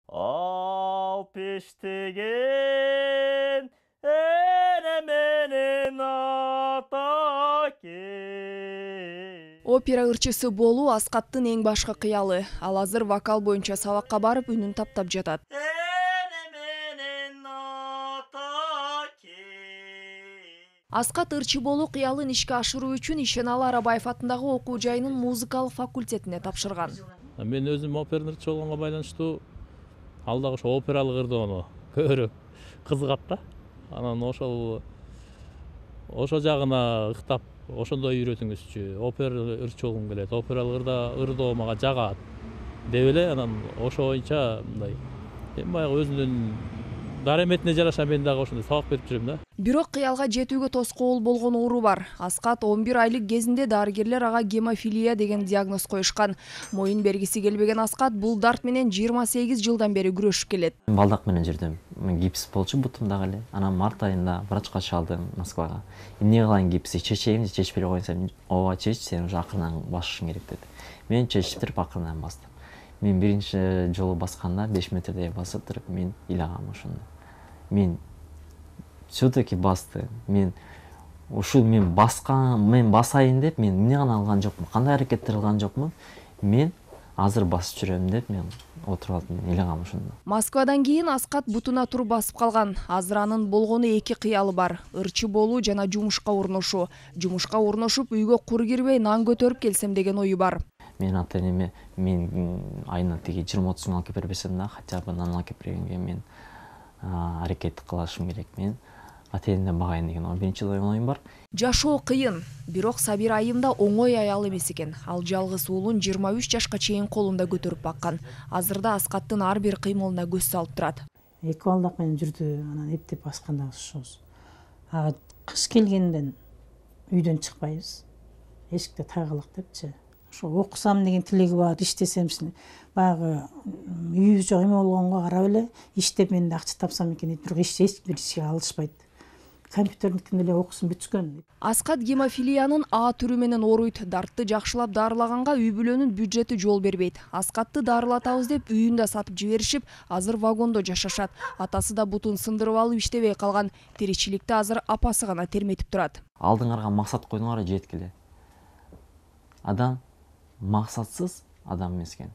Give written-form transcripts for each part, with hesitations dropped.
Ал пештеген эне менен атаке. Опера ырчысы болуу Аскаттын эң башкы кыялы. Ал азыр вокал боюнча сабакка барып үнүн таптап жатат. Аскат ырчы болуу кыялын ишке ашыруу үчүн Ишеналы Арабаев атындагы окуу жайынын музыкалык факультетине тапшырган. Мен өзүм операны ырчы болгонго байланыштуу ал дагы ошо опералык ырдоону көбүрөөк кызыгат да. Анан ошо жагына ыктап ошондой үйрөтүңүзчү, опера ырчы болгум келет, опералык ырдоо мага жагат деп эле анан ошо боюнча мындай баягы өзүнүн дараметине жараша мен дагы ошондой сабак берип жүрөм да. Бирок кыялга жетүүгө тоскоол болгон оору бар. Аскат 11 айлык кезинде дарыгерлер ага гемофилия деген диагноз коюшкан. Моюн бергиси келбеген Аскат бул дарт менен 28 жылдан бери күрөшүп келет. Балдак менен жүрдүм. Гипс болчу бутумдагы эле. Анан март айында врачка чалдым Москвага. Эмне кылайын гипси, чечейин же чечпей койсом, ооба чеч, сен уже акырынан басышың керек деди. Мен чечтирип акырынан бастым. Мен биринчи жолу басканда 5 метрдей басып туруп мен ыйлагам ошондо. Мен все-таки басты. Мен басайын деп мен эмне гана алган жокмун, кандай аракеттер кылган жокмун. Мен азыр басып жүрөм деп мен отуруп алдым, ыйлагам ошондо. Москвадан кийин Аскат бутуна туруп басып калган. Азыр анын болгону эки кыялы бар: ырчы болуу жана жумушка орношуу. Жумушка орношуп үйгө кур кирбей нан көтөрүп келсем деген ою бар. Мен ата-энеме мен айына тиги 20-30 алып келип бербесем да, хотя бы нан алып келип бергенге мен аракет кылышым керек. Мен ата-энемден багайын деген биринчи оюм бар. Жашоо кыйын, бирок Сабир айым да оңой аял эмес экен. Ал жалгыз уулун 23 жашка чейин колунда көтөрүп баккан. Азырда Аскаттын ар бир кыймылына көз салып турат. Эки балдак менен жүрдү, анан эптеп басканда ошобуз. Кыш келгенден үйдөн чыкпайбыз. Эшикте тагылык депчи. Ошо окусам деген тилеги бар, иштесем баягы үйүбүз жок эме болгонго карап эле иштеп мен да акча тапсам экен дейт, бирок эч бир ишке алышпайт. Компьютердикин эле окусун бүткөн. Аскат гемофилиянын А түрү менен ооруйт. Дартты жакшылап дарылаганга үй бүлөнүн бюджети жол бербейт. Аскатты дарылатабыз деп үйүн да сатып жиберишип, азыр вагондо жашашат. Атасы да бутун сындырып алып иштебей калган. Тиричиликти азыр апасы гана терметип турат. Алдыңарга максат койдуңар жеткиле. Адам максатсыз адам эмес экен.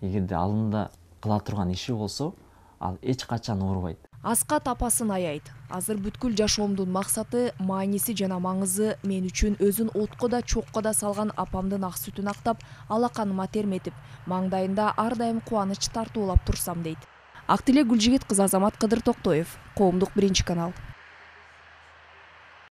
Эгерде алдында кыла турган иши болсо, ал эч качан оорубайт. Аскат апасын аяйт. Азыр бүткүл жашоомдун максаты, мааниси жана маңызы мен үчүн өзүн отко да чокко да салган апамдын ак сүтүн актап, алаканыма терметип, маңдайында ар дайым кубаныч тартуулап турсам дейт. Ак Тилек Гүлжигит кызы Азамат Кыдыр Токтоев, Коомдук 1 канал.